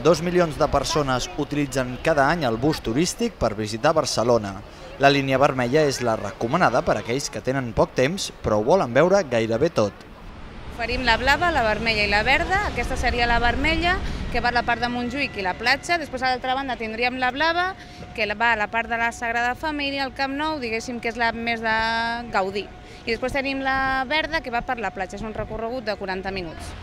2 milions de persones utilitzen cada any el bus turístic per visitar Barcelona. La línia vermella és la recomanada per a aquells que tenen poc temps però ho volen veure gairebé tot. Oferim la blava, la vermella i la verda. Aquesta seria la vermella, que va a la part de Montjuïc i la platja. Després, a l'altra banda, tindríem la blava, que va a la part de la Sagrada Família, el Camp Nou, diguéssim que és la més de Gaudí. I després tenim la verda, que va per la platja. És un recorregut de 40 minuts.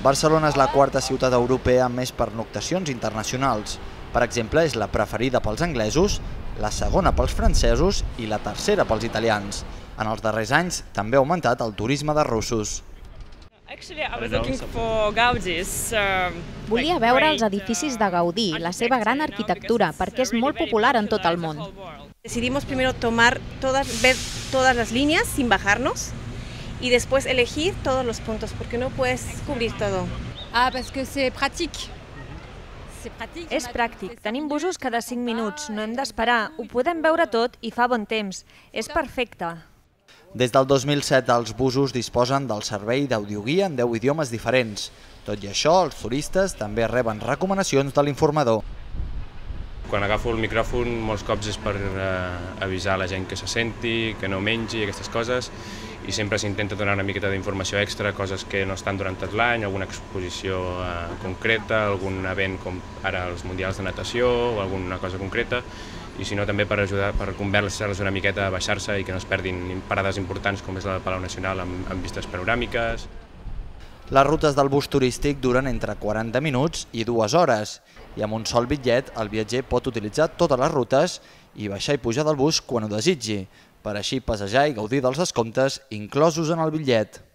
Barcelona és la quarta ciutat europea amb més pernoctacions internacionals. Per exemple, és la preferida pels anglesos, la segona pels francesos i la tercera pels italians. En els darrers anys també ha augmentat el turisme de russos. Volia veure els edificis de Gaudí, la seva gran arquitectura, perquè és molt popular en tot el món. Decidimos primero ver todas las líneas sin bajarnos y después elegir todos los puntos, porque no puedes cubrir todo. Parce que c'est pratique. És pràctic, tenim busos cada 5 minuts, no hem d'esperar, ho podem veure tot i fa bon temps. És perfecte. Des del 2007 els busos disposen del servei d'audioguia en 10 idiomes diferents. Tot i això, els turistes també reben recomanacions de l'informador. Quan agafo el micròfon molts cops és per avisar la gent que se senti, que no mengi, aquestes coses, i sempre s'intenta donar una miqueta d'informació extra, coses que no estan durant tot l'any, alguna exposició concreta, algun event com ara els mundials de natació o alguna cosa concreta, i si no també per ajudar, per convèncer-los una miqueta a baixar-se i que no es perdin parades importants com és la del Palau Nacional amb vistes panoràmiques. Les rutes del bus turístic duren entre 40 minuts i 2 hores i amb un sol bitllet el viatger pot utilitzar totes les rutes i baixar i pujar del bus quan ho desitgi, per així passejar i gaudir dels descomptes inclosos en el bitllet.